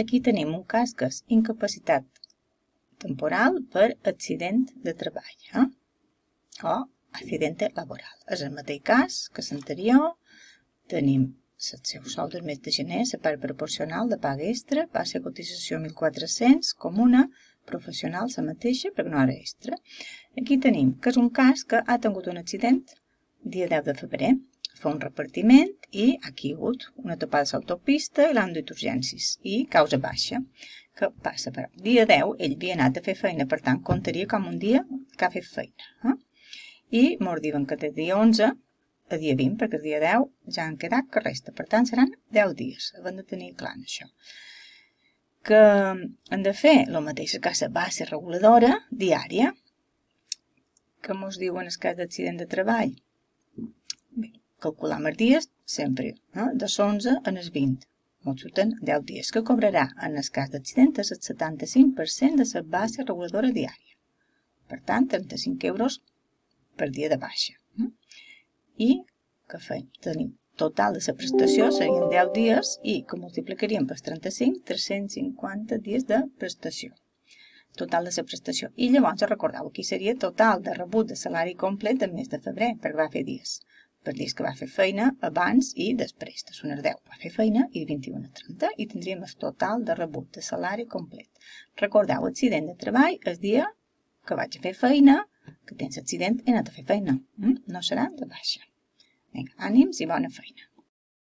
aquí tenim un cas que és incapacitat temporal per accident de treball o accidente laboral. És el mateix cas que l'anterior. Tenim el seu sou del mes de gener, la part proporcional de paga extra, base de cotització 1.400, comuna, professional, la mateixa, perquè no era extra. Aquí tenim que és un cas que ha tingut un accident dia 10 de febrer, fa un repartiment i aquí ha hagut una topada a l'autopista i l'han duit urgències i causa baixa. Què passa? Però dia 10 ell havia anat a fer feina, per tant comptaria com un dia que ha fet feina. I ens diuen que de dia 11 a dia 20, perquè el dia 10 ja han quedat que resta. Per tant, seran 10 dies. Hem de tenir clar això. Que hem de fer el mateix que la base reguladora diària. Que ens diuen el cas d'accident de treball? Bé, calculam els dies sempre, de l'11 en els 20. Ens surten 10 dies, que cobrarà en el cas d'accident el 75% de la base reguladora diària. Per tant, 35 euros per dia de baixa. I què fem? Tenim total de la prestació, serien 10 dies i que multiplicaríem per 35, 350 dies de prestació. Total de la prestació. I llavors, recordeu, aquí seria total de rebut de salari complet del mes de febrer, perquè va fer dies. Per dies que va fer feina abans i després. De són els 10 va fer feina i 21 a 30 i tindríem el total de rebut de salari complet. Recordeu, accident de treball el dia que vaig a fer feina, que tens accident i he anat a fer feina. No serà de baixa. Vinga, ànims i bona feina.